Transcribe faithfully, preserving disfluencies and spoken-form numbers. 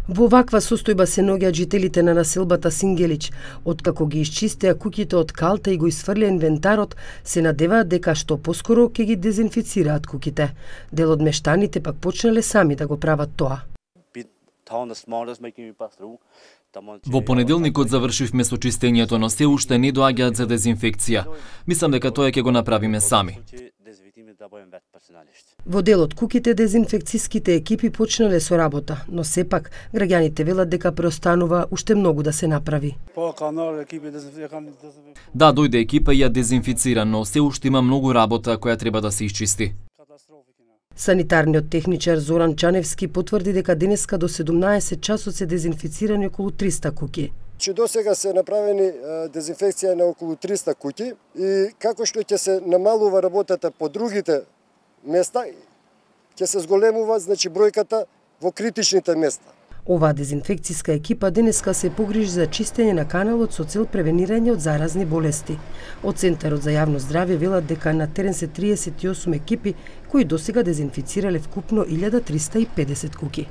Во ваква состојба се наоѓаат жителите на населбата Сингелич. Откако ги исчистеа куќите од калта и го исфрлеа инвентарот, се надеваат дека што поскоро ќе ги дезинфицираат куќите. Дел од мештаните пак почнале сами да го прават тоа. Во понеделникот завршивме со чистењето, но се уште не доаѓаат за дезинфекција. Мислам дека тоа ќе го направиме сами. Во дел од куќите дезинфекцијските екипи почнале со работа, но сепак граѓаните велат дека преостанува уште многу да се направи. Да, дојде екипа и ја дезинфицира, но се уште има многу работа која треба да се исчисти. Санитарниот техничар Зоран Чаневски потврди дека денеска до седумнаесет часот се дезинфицирани околу триста куќи. Че до сега се направени дезинфекција на околу триста куќи и како што ќе се намалува работата по другите места, ќе се зголемува значи бројката во критичните места. Оваа дезинфекцијска екипа денеска се погрижи за чистење на каналот со цел превенирање од заразни болести. Од Центарот за јавно здравје велат дека на терен се триесет и осум екипи кои досега дезинфицирале вкупно илјада триста и педесет куќи.